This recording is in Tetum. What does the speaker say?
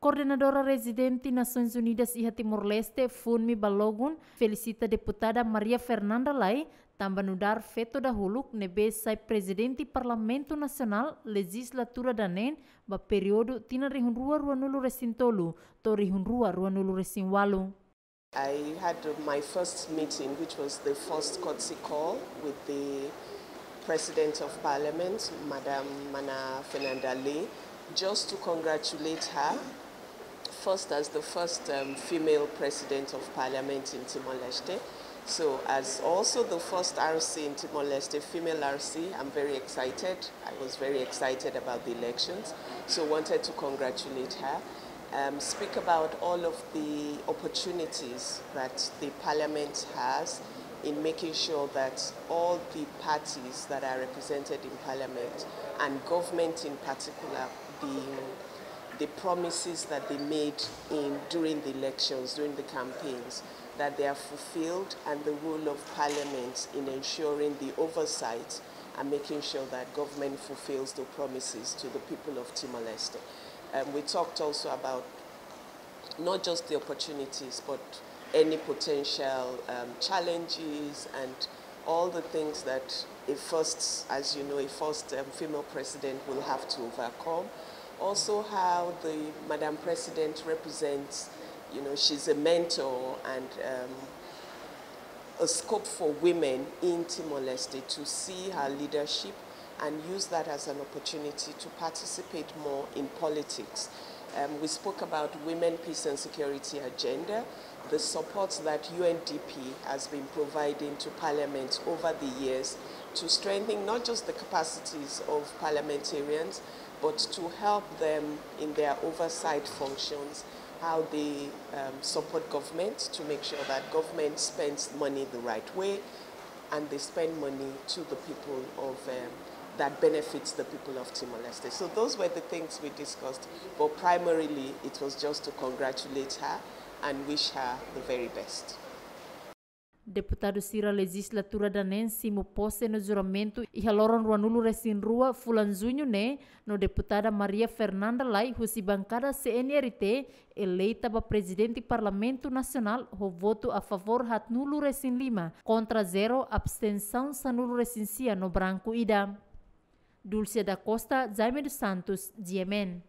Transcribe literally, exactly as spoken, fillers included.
Koordenadora Rezidente Nasoins Unidas iha Timor-Leste, Funmi Balogun, felisita Deputada Maria Fernanda Lay, tanba nu'udar feto dahuluk ne'ebé sai Prezidente Parlamentu Nasionál lejizlatura daneen ba períodu tinan rihun rua ruanulu resin tolu to'o rihun rua ruanulu resin ualu. I had my first meeting, which was the first courtesy call with the President of Parliament, Madam Mana Fernanda Lay, just to congratulate her first as the first um, female president of parliament in Timor-Leste. So, as also the first R C in Timor-Leste, female R C, I'm very excited. I was very excited about the elections. So, wanted to congratulate her. Um, speak about all of the opportunities that the parliament has in making sure that all the parties that are represented in parliament and government in particular, the the promises that they made in during the elections, during the campaigns, that they are fulfilled, and the role of parliament in ensuring the oversight and making sure that government fulfills the promises to the people of Timor-Leste. Um, we talked also about not just the opportunities, but any potential um, challenges and all the things that a first, as you know, a first um, female president will have to overcome. Also, how the Madam President represents, you know, she's a mentor and um, a scope for women in Timor-Leste to see her leadership and use that as an opportunity to participate more in politics. Um, we spoke about women, peace and security agenda, the support that U N D P has been providing to Parliament over the years to strengthen not just the capacities of parliamentarians, but to help them in their oversight functions, how they um, support government to make sure that government spends money the right way and they spend money to the people of um, that benefits the people of Timor-Leste. So those were the things we discussed, but primarily it was just to congratulate her and wish her the very best. Deputadu sira lejizlatura daneen simu pose no juramentu iha loron ruanulu resin rua fulan Juñu ne'e, no Deputada Maria Fernanda Lay husi bankada C N R T eleita ba Prezidente Parlamentu Nasionál ho votu a favór haatnulu resin lima, kontra zero, abstensaun sanulu resin sia no branku ida. Dulcia da Costa, Jaime dos Santos, G M N.